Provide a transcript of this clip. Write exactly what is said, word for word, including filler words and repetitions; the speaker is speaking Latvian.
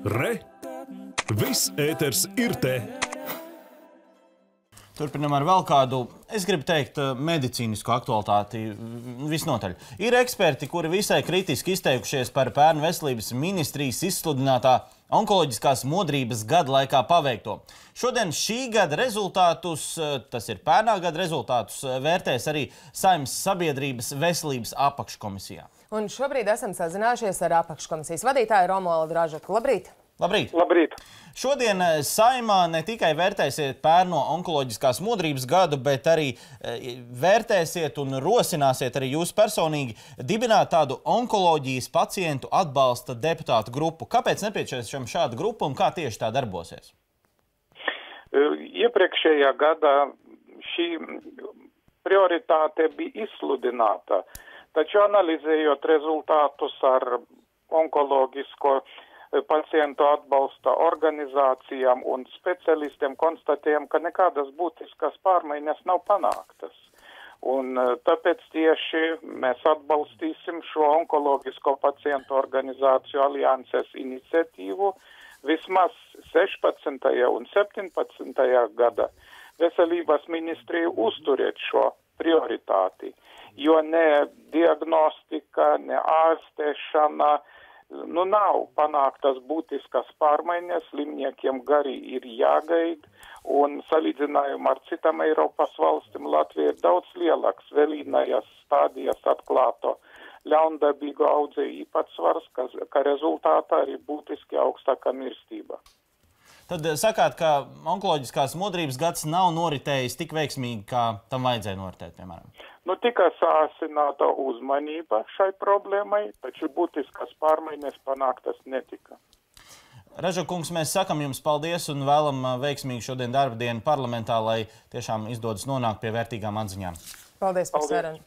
Re! Viss ēters ir te! Turpinam ar vēl kādu, es gribu teikt, medicīnisku aktualitāti visnotaļ. Ir eksperti, kuri visai kritiski izteikušies par pērn veselības ministrijas izsludinātā onkoloģiskās modrības gada laikā paveikto. Šodien šī gada rezultātus, tas ir pērnā gada rezultātus, vērtēs arī Saeimas sabiedrības veselības apakškomisijā. Un šobrīd esam sazinājušies ar apakškomisijas vadītāju Romualdu Ražaku. Labrīt! Labrīt! Labrīt! Šodien Saeimā ne tikai vērtēsiet pērno onkoloģiskās modrības gadu, bet arī vērtēsiet un rosināsiet arī jūs personīgi dibināt tādu onkoloģijas pacientu atbalsta deputātu grupu. Kāpēc nepieciešama šāda grupa un kā tieši tā darbosies? Iepriekšējā gadā šī prioritāte bija izsludināta, taču analizējot rezultātus ar onkoloģisko pacientu atbalsta organizācijām un specialistiem, konstatējam, ka nekādas būtiskas pārmaiņas nav panāktas. Un tāpēc tieši mēs atbalstīsim šo onkoloģisko pacientu organizāciju alianses iniciatīvu vismaz sešpadsmitajā un septiņpadsmitajā gada veselības ministrija uzturiet šo prioritāti, jo ne diagnostika, ne ārstēšana, Nu, nav panāktas būtiskas pārmaiņas, slimniekiem gari ir jāgaid, un salīdzinājumā ar citām Eiropas valstīm Latvija ir daudz lielāks vēlīnājas stādijas atklāto ļaundabīgu audzēju īpatsvars, ka, ka rezultātā arī būtiski augstāka mirstība. Tad sakāt, ka onkoloģiskās modrības gads nav noritējis tik veiksmīgi, kā tam vajadzēja noritēt, piemēram? Nu, tika sāsināta uzmanība šai problēmai, taču būtiskas pārmaiņas panāktas netika. Ražaku kungs, mēs sakam jums paldies un vēlam veiksmīgu šodien darba dienu parlamentā, lai tiešām izdodas nonākt pie vērtīgām atziņām. Paldies par sarunu.